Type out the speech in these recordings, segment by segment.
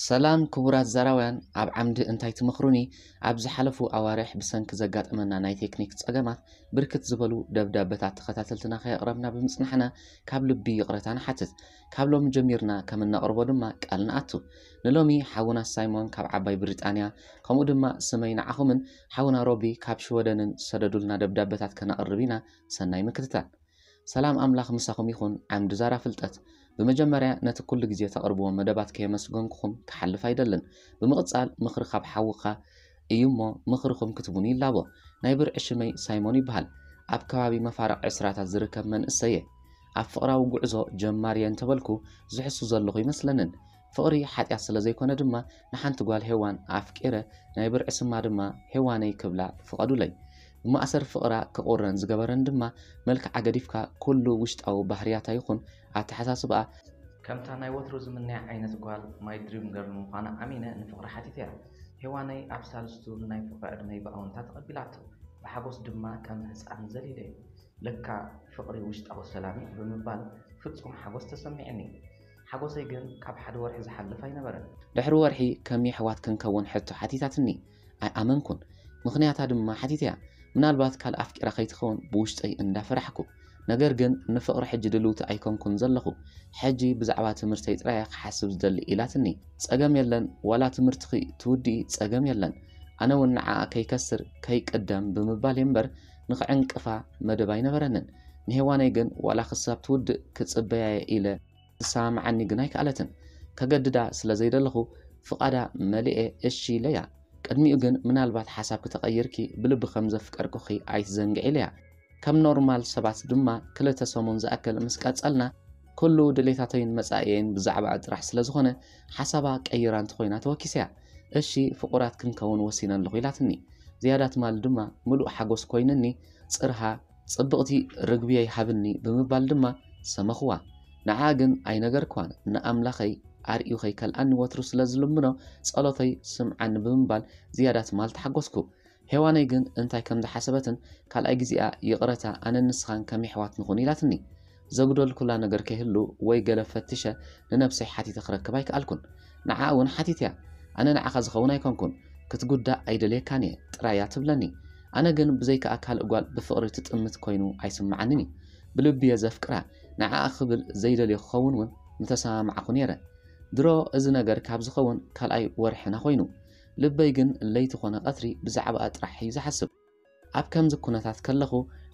ሰላም ክቡራት ዛራውያን፣ ኣብ ዓምዲ እንታይ ትመኽሩኒ? ኣብ ዝሓለፉ ኣዋርሕ ብሰንኪ ዘጋጠመና ናይ ቴክኒክ ጸገማት ብርክት ዝበሉ ደብዳበታት ተኸታተልትና ከየቕረብና ብምጽናሕና ካብ ልቢ ይቕረታ ንሓትት። ካብ ሎሚ ጀሚርና ከም እነቕርቦ ድማ ቃል ንኣቱ። ንሎሚ ሓውና ሳይሞን ካብ ዓባይ ብሪጣንያ፣ ከምኡ ድማ ስመይ ንዓኹምን ሓውና ሮቢ ካብ ሽወደንን ዝሰደዱልና ደብዳበታት ከነቕርብ ኢና። ሰናይ ምክትታል። ሰላም ኣምላኽ ምሳኹም ይኹን። ዓምዲ ዛራ ፍልጠት። ብመጀመርያ ነቲ ኩሉ ግዜ ተቕርብዎ መደባት ከየመስገንኩኹም ክሓልፍ ኣይደልን። ብምቕጻል ምኽሪ ካብ ሓውኻ እዩ እሞ ምኽርኹም ክትቡኒ ይላቦ። ናይ ብርዒ ሽመይ ሳይሞን ይበሃል። ኣብ ከባቢ መፋርቕ ዕስራታት ዝርከብ መንእሰየ። ኣብ ፍቕራዊ ጉዕዞ ጀማሪየ እንተበልኩ ዝሕሱ ዘለኹ ይመስለንን። ፍቕሪ ሓጢኣት ስለ ዘይኮነ ድማ ንሓንቲ ጓል ሄዋን ኣፍቂረ ናይ ብርዒ ስማ ድማ ሄዋነይ ክብላ ፍቐዱለይ። ብማእሰር ፍቕራ ክቑረን ዝገበረን ድማ መልክዓ ገዲፍካ ኩሉ ውሽጣዊ ባህርያታ ይኹን ኣተሓሳስባኣ ከምታ ናይ ወትሩ ዝምነያ ዓይነት ጓል ማይ ድሪም ገርል ምዃና ኣሚነ ንፍቕሪ ሓቲተያ። ሄዋነይ ኣብ ሳልስቱ ንናይ ፍቕሪ ዕድመይ ብኣወንታ ተቐቢላቶ። ብሓጎስ ድማ ከም ህጻን ዘሊለዮ። ለካ ፍቕሪ ውሽጣዊ ሰላም እዩ ብምባል ፍጹም ሓጎስ ተሰሚዕኒ። ሓጎሰይ ግን ካብ ሓደ ወርሒ ዝሓልፍ ኣይነበረን። ድሕሪ ወርሒ ከም የሕዋት ክንከውን ሕቶ ሓቲታትኒ። ኣይኣመንኩን። ምኽንያታ ድማ ሓቲተያ። ምናልባት ካልእ ኣፍቂራ ከይትኸውን ብውሽጠይ እንዳፈራሕኩ። ነገር ግን ንፍቕሪ ሕጂ ድልውቲ ኣይኮንኩን ዘለኹ። ሕጂ ብዛዕባ ትምህርተይ ጥራይ እየ ክሓስብ ዝደሊ ኢላትኒ። ጸገም የለን፣ ዋላ ትምህርትኺ ትውድኢ ጸገም የለን። ኣነ እውን ንዓኣ ከይከስር ከይቅደም ብምባል እየ እምበር ንኽዕንቅፋ መደብ ኣይነበረንን። ንሄዋነይ ግን ዋላ ክሳብ ትውድእ ክጽበያ እየ ኢለ ትሰማምዓኒ ግን ኣይከኣለትን። ከገድዳ ስለ ዘይደለኹ ፍቓዳ መሊኤ እሺ ኢለያ። ቅድሚኡ ግን ምናልባት ሓሳብኪ ተቐይርኪ ብልቢ ከም ዘፍቀርኩኺ ኣይትዘንግዒ ኢለያ። ከም ኖርማል ሰባት ድማ ክልተ ሰሙን ዝኣክል ምስ ቀጸልና ኩሉ ድሌታተይን መጻኢየይን ብዛዕባኣ ጥራሕ ስለ ዝኾነ ሓሳባ ቀይራ እንተኾይና ተወኪሰያ። እሺ ፍቑራት ክንከውን ወሲነ ኣለኹ ኢላትኒ። ዝያዳ ትማሊ ድማ ምሉእ ሓጎስ ኮይንኒ ጽርሃ ጽብቕቲ ርግብየይ ሃብኒ ብምባል ድማ ሰመኽዋ። ንዓ ግን ኣይነገርክዋን። ንኣምላኸይ ኣርእዩ ከይከልኣኒ ወትሩ ስለ ዝልምኖ ጸሎተይ ስምዓኒ ብምባል ዝያዳ ትማል ተሓጎስኩ። ሄዋነይ ግን እንታይ ከም ዝሓሰበትን ካልኣይ ግዜኣ ይቕረታ ኣነን ንስኻን ከም የሕዋት ንኹን ኢላትኒ። ዘጉደልኩላ ነገር ከይህሉ ወይ ገለ ፈትሸ ንነብሰይ ሓቲተ ክረክብ ኣይከኣልኩን። ንዓ እውን ሓቲተያ። ኣነ ንዓኻ ዝኸውን ኣይኮንኩን። ክትጉዳእ ኣይደልየካን እየ ጥራይ እያ ትብለኒ። ኣነ ግን ብዘይካኣ ካልእ ጓል ብፍቕሪ ትጥምት ኮይኑ ኣይስምዓንን እዩ። ብልቢ እየ ዘፍቅራ። ንዓኣ ክብል ዘይደልዮ ክኸውን እውን ምተሰማማዕኩ ነይረ። ድሮ እዚ ነገር ካብ ዝኸውን ካልኣይ ወርሕና ኮይኑ። ልበይ ግን ለይቲ ኮነ ቀትሪ ብዛዕባኣ ጥራሕ እዩ ዝሓስብ። ኣብ ከምዚ ኩነታት ከለኹ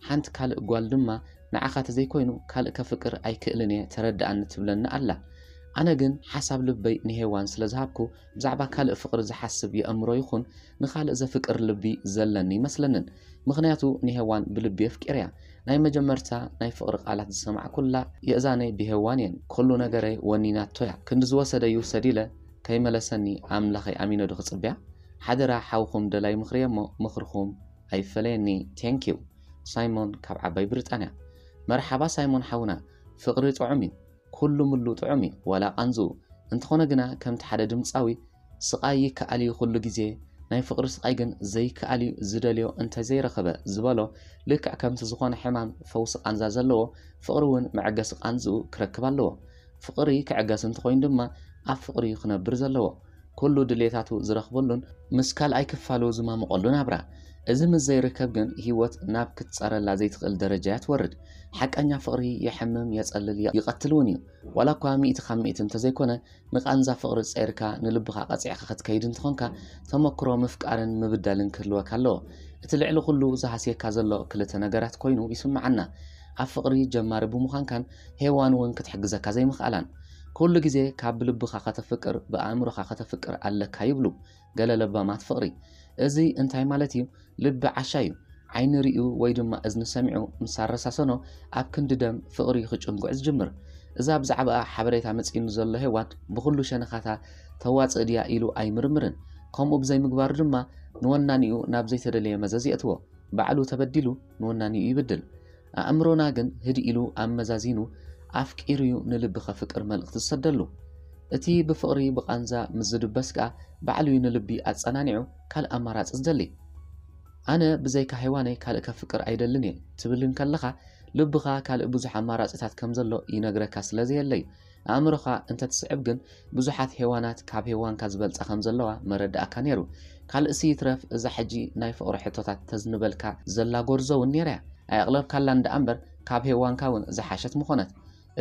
ሓንቲ ካልእ ጓል ድማ ንዓኻ ተዘይኮይኑ ካልእ ከፍቅር ኣይክእልን እየ ተረድኣኒ ትብለኒ ኣላ። ኣነ ግን ሓሳብ ልበይ ንሄዋን ስለ ዝሃብኩ ብዛዕባ ካልእ ፍቕሪ ዝሓስብ የእምሮ ይኹን ንኻልእ ዘፍቅር ልቢ ዘለኒ ይመስለንን። ምኽንያቱ ንሄዋን ብልቢ የፍቂረያ። ናይ መጀመርታ ናይ ፍቕሪ ቃላት ዝሰማዕኩላ የእዛነይ ብሄዋን እየን። ኩሉ ነገረይ ወኒናቶ እያ። ክንዲ ዝወሰደ ይውሰድ ኢለ ከይመለሰኒ ኣምላኸይ ኣሚነ ዶ ክጽብያ? ሓደራ ሓውኹም ደላይ ምኽሪ እየ እሞ ምኽርኹም ኣይፈለየኒ። Thank you። ሳይሞን ካብ ዓባይ ብሪጣንያ። መርሓባ ሳይሞን ሓውና፣ ፍቕሪ ጥዑም እዩ። ኩሉ ምሉ ጥዑም እዩ፣ ዋላ ቃንዝኡ። እንተኾነ ግና ከምቲ ሓደ ድምጻዊ ስቓይ ይከኣል እዩ ኩሉ ግዜ፣ ናይ ፍቕሪ ስቓይ ግን ዘይከኣል እዩ፣ ዝደልዮ እንተዘይረኸበ ዝበሎ፣ ልክዕ ከምቲ ዝኾነ ሕማም ፈውሲ ቃንዛ ዘለዎ፣ ፍቕሪ እውን መዐገሲ ቃንዝኡ ክረክብ ኣለዎ። ፍቕሪ ክዕገስ እንተኾይኑ ድማ ኣብ ፍቕሪ እዩ ክነብር ዘለዎ። ኩሉ ድሌታቱ ዝረኽበሉን ምስ ካልኣይ ክፋሉ ዝማምቐሉ ናብራ። እዚ ምስ ዘይርከብ ግን ህይወት ናብ ክትጻረላ ዘይትኽእል ደረጃ እያ ትወርድ። ሓቀኛ ፍቕሪ የሕምም፣ የጸልል፣ የ-፣ ይቐትል እውን እዩ። ዋላ እኳ ሚእቲ ካብ ሚእቲ እንተዘይኮነ፣ ንቓንዛ ፍቕሪ ጸይርካ ንልብኻ ቀጺዕካ ክትከይድ እንተኾንካ፣ ተመክሮ ምፍቃርን ምብዳልን ክህልወካ ኣለዎ። እቲ ልዕሊ ኩሉ ዝሃስየካ ዘሎ ክልተ ነገራት ኮይኑ ይስምዓና። ኣብ ፍቕሪ ጀማሪ ብምዃንካን ሄዋን እውን ክትሕግዘካ ዘይምኽኣላን። ኩሉ ግዜ ካብ ብልብኻ ከተፍቅር ብኣእምሮኻ ከተፍቅር ኣለካ ይብሉ ገለ ለባማት ፍቕሪ። እዚ እንታይ ማለት እዩ? ልቢ ዓሻ እዩ። ዓይኒ ሪኡ ወይ ድማ እዝኒ ሰሚዑ ምስ ኣረሳሰኖ ኣብ ክንዲ ደም ፍቕሪ ክጭንጉዕ ዝጅምር። እዛ ብዛዕባኣ ሓበሬታ መጺኡኒ ዘሎ ሄዋን ብኹሉ ሸነኻታ ተዋጽእ ድያ ኢሉ ኣይምርምርን። ከምኡ ብዘይምግባሩ ድማ ንወናኒኡ ናብ ዘይተደለየ መዘዝ የእትዎ። ባዕሉ ተበዲሉ ንወናኒኡ ይብድል። ኣእምሮና ግን ህድእ ኢሉ ኣመዛዚኑ ኣፍቂሩ'ዩ ንልቢ ከፍቅር መልእኽቲ ዝሰደሉ። እቲ ብፍቕሪ ብቓንዛ ምስ ዝድበስ ከኣ ባዕሉ'ዩ ንልቢ ኣጸናኒዑ ካልእ ኣማራጺ ዝደሊ። ኣነ ብዘይካ ሄዋነይ ካልእ ከፍቅር ኣይደልን እየ ትብል እንከለኻ ልብኻ ካልእ ብዙሕ ኣማራጺታት ከም ዘሎ ይነግረካ ስለ ዘየለ'ዩ። ኣእምሮኻ እንተትስዕብ ግን ብዙሓት ሄዋናት ካብ ሄዋንካ ዝበልጻ ከም ዘለዋ መረዳእካ ነይሩ። ካልእሲ ይትረፍ እዛ ሕጂ ናይ ፍቕሪ ሕቶታት ተዝንበልካ ዘላ ጎርዞ እውን ነይራ እያ። ኣየቕለብካላን ደኣ እምበር ካብ ሄዋንካ እውን ዝሓሸት ምኾነት።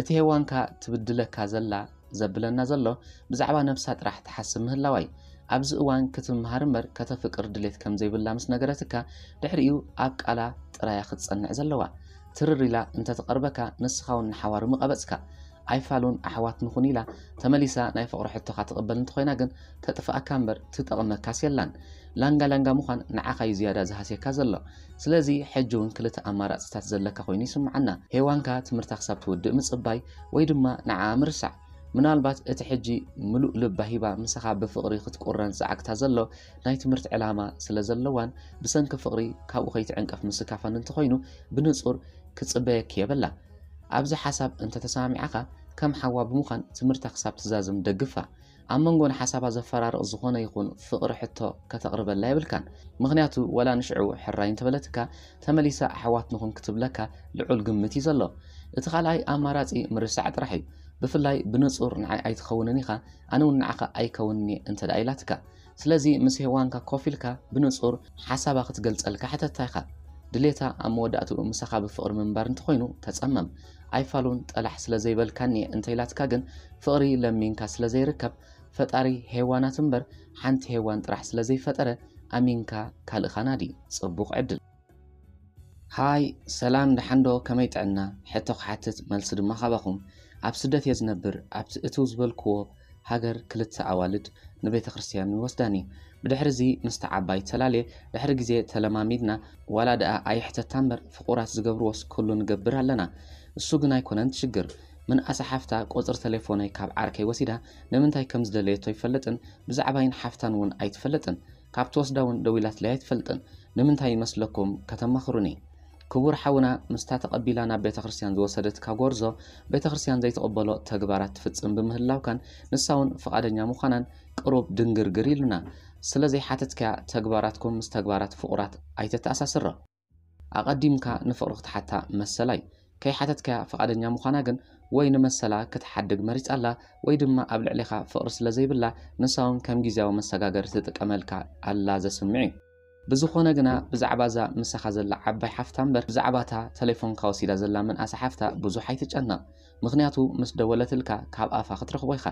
እቲ ሄዋንካ ትብድለካ ዘላ ዘብለና ዘሎ ብዛዕባ ነብሳ ጥራሕ ትሓስብ ምህላዋ እዩ። ኣብዚ እዋን ክትምሃር እምበር ከተፍቅር ድሌት ከም ዘይብላ ምስ ነገረትካ ድሕሪኡ ኣብ ቃላ ጥራያ ክትጸንዕ ዘለዋ። ትርር ኢላ እንተትቐርበካ ንስኻ እውን ንሓዋሩ ምቐበጽካ። ኣይፋሉን ኣሕዋት ንኹን ኢላ ተመሊሳ ናይ ፍቕሪ ሕቶኻ ትቕበል እንተኾይና ግን ተጥፍኣካ እምበር ትጠቕመካስ የላን። ላንጋ ላንጋ ምዃን ንዓኻ እዩ ዝያዳ ዝሃስየካ ዘሎ። ስለዚ ሕጂ እውን ክልተ ኣማራፅታት ዘለካ ኮይኑ ይስምዓና። ሄዋንካ ትምህርታ ክሳብ ትውድእ ምፅባይ ወይ ድማ ንዓኣ ምርሳዕ። ምናልባት እቲ ሕጂ ምሉእ ልባ ሂባ ምሳኻ ብፍቕሪ ክትቁረን ዝዓግታ ዘሎ ናይ ትምህርቲ ዕላማ ስለ ዘለዋን ብሰንኪ ፍቕሪ ካብኡ ከይትዕንቀፍ ምስካፋን እንተኾይኑ ብንጹር ክጽበየኪ የብላ። ኣብዚ ሓሳብ እንተተሰማሚዓኻ ከም ሓዋ ብምዃን ትምህርታ ክሳብ ትዛዝም ደግፋ። ኣብ መንጎ ንሓሳባ ዘፈራርቕ ዝኾነ ይኹን ፍቕሪ ሕቶ ከተቕርበላ የብልካን። ምኽንያቱ ወላ ንሽዑ ሕራይ እንተበለትካ ተመሊሳ ኣሕዋት ንኹን ክትብለካ ልዑል ግምት እዩ ዘሎ። እቲ ካልኣይ ኣማራጺ ምርሳዕ ጥራሕ እዩ። ብፍላይ ብንጹር ንዓይ ኣይትኸውንን ኢኻ፣ ኣነ እውን ንዓኻ ኣይከውንን እየ እንተ ደኣ ኢላትካ። ስለዚ ምስ ሄዋንካ ኮፍ ኢልካ ብንጹር ሓሳባ ክትገልጸልካ ሕተታ ኢኻ። ድሌታ ኣብ መወዳእትኡ ምሳኻ ብፍቕሪ ምንባር እንተኾይኑ ተጸመም። ኣይፋሉን ጠላሕ ስለ ዘይበልካኒ እየ እንተ ኢላትካ ግን ፍቕሪ ለሚንካ ስለ ዘይርከብ ፈጣሪ ሄዋናት እምበር ሓንቲ ሄዋን ጥራሕ ስለ ዘይፈጠረ ኣሚንካ ካልእኻ ናዲ። ጽቡቕ ዕድል። ሃይ ሰላም ደሓንዶ ከመይ ጥዕና? ሕቶ ክሓትት መልሲ ድማ ካባኹም። ኣብ ስደት እየ ዝነብር። ኣብቲ እትው ዝበልክዎ ሃገር ክልተ ኣዋልድ ንቤተ ክርስቲያን ይወስዳኒ። ብድሕሪ እዚ ምስቲ ዓባይ ተላልየ ድሕሪ ግዜ ተለማሚድና ዋላ ደኣ ኣይሕተታ እምበር ፍቑራት ዝገብርዎስ ኩሉ ንገብር ኣለና። እሱ ግን ኣይኮነን ትሽግር። ምንኣሳ ሓፍታ ቁጽሪ ተሌፎነይ ካብ ዓርከይ ወሲዳ ንምንታይ ከም ዝደለየቶ ኣይፈልጥን ብዛዕባይን ሓፍታን እውን ኣይትፈልጥን። ካብ ትወስዳ እውን ደዊላትለይ ኣይትፈልጥን። ንምንታይ ይመስለኩም ከተማኽሩኒ? ክቡር ሓውና ምስታ ተቐቢላ ናብ ቤተ ክርስቲያን ዝወሰደትካ ጎርዞ ቤተ ክርስቲያን ዘይትቕበሎ ተግባራት ትፍጽም ብምህላውካን ንሳ እውን ፍቓደኛ ምዃናን ቅሩብ ድንግርግር ኢሉና። ስለ ዘይሓተትካያ ተግባራትኩም ምስ ተግባራት ፍቑራት ኣይተተኣሳስሮ። ኣቐዲምካ ንፍቕሪ ክትሓታ መሰላ እዩ። ከይሓተትካያ ፍቓደኛ ምዃና ግን ወይ ንመሰላ ክትሓድግ መሪጻ ኣላ ወይ ድማ ኣብ ልዕሌኻ ፍቕሪ ስለ ዘይብላ ንሳ እውን ከም ግዝያዊ መሰጋገሪ ትጥቀመልካ ኣላ ዘስምዕ እዩ። ብዝኾነ ግና ብዛዕባ እዛ ምሳኻ ዘላ ዓባይ ሓፍታ እምበር ብዛዕባ እታ ተሌፎንካ ወሲዳ ዘላ ምንኣሳ ሓፍታ ብዙሕ ኣይትጨነቕ። ምኽንያቱ ምስ ደወለትልካ ካብ ኣፋ ክትረኽቦ ኢኻ።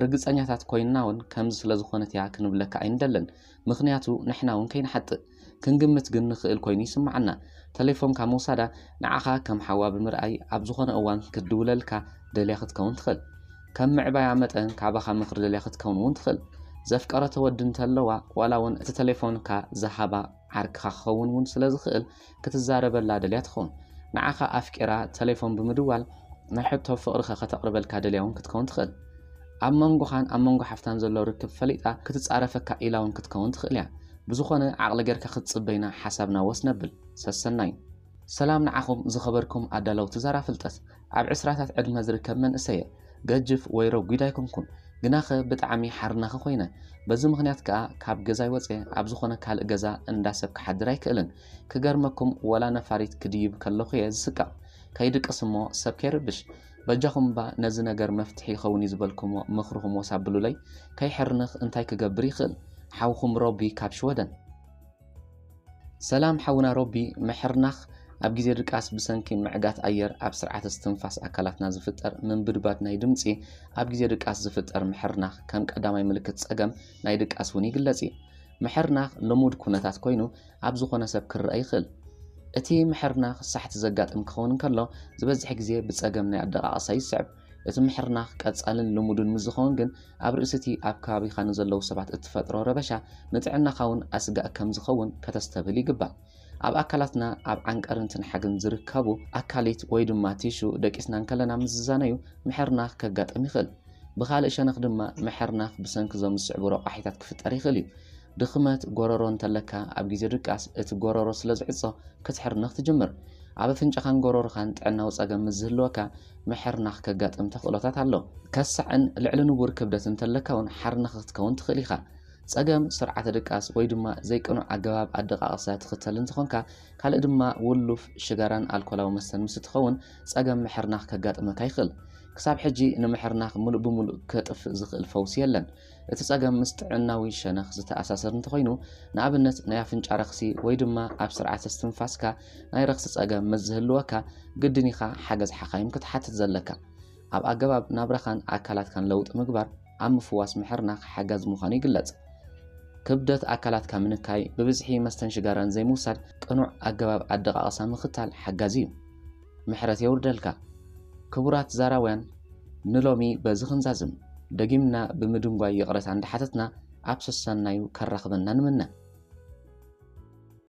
ርግጸኛታት ኮይንና እውን ከምዚ ስለ ዝኾነት እያ ክንብለካ ኣይንደልን። ምኽንያቱ ንሕና እውን ከይንሓጥእ ክንግምት ግን ንኽእል ኮይኑ ይስምዓና። ተሌፎንካ ምውሳዳ ንዓኻ ከም ሓዋ ብምርኣይ ኣብ ዝኾነ እዋን ክትድውለልካ ደልያ ክትከውን ትኽእል። ከም ምዕባያ መጠን ካባኻ ምኽሪ ደልያ ክትከውን እውን ትኽእል። ዘፍቀረቶ ወዲ እንተለዋ ዋላ እውን እቲ ተሌፎንካ ዝሃባ ዓርክኻ ክኸውን እውን ስለ ዝኽእል ክትዛረበላ ደልያ ትኸውን። ንዓኻ ኣፍቂራ ተሌፎን ብምድዋል ናይ ሕቶ ፍቕርኸ ከተቕርበልካ ደልያ እውን ክትከውን ትኽእል። ኣብ መንጎኻን ኣብ መንጎ ሓፍታን ዘሎ ርክብ ፈሊጣ ክትጻረፈካ ኢላ እውን ክትከውን ትኽእል እያ። ብዝኾነ ዓቕሊ ጌርካ ክትጽበይና ሓሳብና ወስ ነብል። ሰሰናዩ። ሰላም ንዓኹም ዝኸበርኩም ኣዳለውቲ ዛራ ፍልጠት። ኣብ ዕስራታት ዕድመ ዝርከብ መንእሰየ ገጅፍ ወይ ረጒድ ኣይኮንኩን። ግናኸ ብጣዕሚ ሓርናኸ ኮይነ። በዚ ምኽንያት ከኣ ካብ ገዛይ ወጽየ ኣብ ዝኾነ ካልእ ገዛ እንዳ ሰብ ክሓድር ኣይክእልን። ክገርመኩም ወላ ነፋሪት ክድይብ ከለኹ እየ ዝስቀቕ። ከይድቅስ እሞ ሰብ ከይርብሽ። በጃኹም እባ ነዚ ነገር መፍትሒ ይኸውን እዩ ዝበልኩሞ ምኽርኹም ወስ ኣብሉለይ። ከይሕርንኽ እንታይ ክገብር ይኽእል? ሓውኹም ሮቢ ካብ ሽወደን። ሰላም ሓውና ሮቢ፣ ምሕርናኽ ኣብ ግዜ ድቃስ ብሰንኪ ምዕጋት ኣየር ኣብ ስርዓተ እስትንፋስ ኣካላትና ዝፍጠር ምንብድባድ ናይ ድምጺ፣ ኣብ ግዜ ድቃስ ዝፍጠር ምሕርናኽ ከም ቀዳማይ ምልክት ጸገም ናይ ድቃስ እውን ይግለጽ እዩ። ምሕርናኽ ልሙድ ኩነታት ኮይኑ ኣብ ዝኾነ ሰብ ክረኣ ይኽእል። እቲ ምሕርናኽ ሳሕቲ ዘጋጥም ክኸውን እንከሎ ዝበዝሕ ግዜ ብጸገም ናይ ኣደቓቕሳ ይስዕብ። እቲ ምሕርናኽ ቀጻልን ልሙድን ምስ ዝኸውን ግን ኣብ ርእሲ እቲ ኣብ ከባቢኻ ንዘለዉ ሰባት እትፈጥሮ ረበሻ ንጥዕናኻ እውን ኣስጋእ ከም ዝኸውን ከተስተብህል ይግባእ። ኣብ ኣካላትና ኣብ ዓንቀርን ትንሓግን ዝርከቡ ኣካሊት ወይ ድማ ቲሹ ደቂስና እንከለና ምስ ዝዛነዩ ምሕርናኽ ከጋጥም ይኽእል። ብኻልእ ሸነኽ ድማ ምሕርናኽ ብሰንኪ እዞም ዝስዕቡ ረቋሒታት ክፍጠር ይኽእል እዩ። ድኽመት ጎረሮ እንተለካ ኣብ ግዜ ድቃስ እቲ ጎረሮ ስለ ዝዕጾ ክትሕርንኽ ትጅምር። ኣብ ኣፍንጫኻን ጎረሮኻን ጥዕናዊ ጸገም ምስ ዝህልወካ ምሕርናኽ ከጋጥም ተኽእሎታት ኣሎ። ከሳዕን ልዕሊ ንቡር ክብደት እንተለካ እውን ሓርናኽ ክትከውን ትኽእል ኢኻ። ጸገም ስርዓተ ድቃስ ወይ ድማ ዘይቅኑዕ ኣገባብ ኣደቃቕሳ ትኽተል እንተኾንካ ካልእ ድማ ውሉፍ ሽጋራን ኣልኮላዊ መስተን ምስ እትኸውን ጸገም ምሕርናኽ ከጋጥመካ ይኽእል። ክሳብ ሕጂ ንምሕርናኽ ምሉእ ብምሉእ ከጥፍእ ዝኽእል ፈውሲ የለን። እቲ ጸገም ምስ ጥዕናዊ ሸነኽ ዝተኣሳሰር እንተኾይኑ፣ ንኣብነት ናይ ኣፍንጫ ረኽሲ ወይ ድማ ኣብ ስርዓተ እስትንፋስካ ናይ ረኽሲ ጸገም ምስ ዝህልወካ፣ ግድን ኢኻ ሓገዝ ሓኻይም ክትሓትት ዘለካ። ኣብ ኣገባብ ናብራኻን ኣካላትካን ለውጢ ምግባር ኣብ ምፍዋስ ምሕርናኽ ሓጋዚ ምዃኑ ይግለጽ። ክብደት ኣካላትካ ምንካይ፣ ብብዝሒ መስተን ሽጋራን ዘይምውሳድ፣ ቅኑዕ ኣገባብ ኣደቓቕሳ ምኽታል ሓጋዚ እዩ። ምሕረት የውርደልካ። ክቡራት ዛራውያን፣ ንሎሚ በዚ ክንዛዝም። ደጊምና ብምድንጓይ ይቕረታ እንዳሓተትና፣ ኣብ ሰሰናዩ ከራኽበና ንምነ።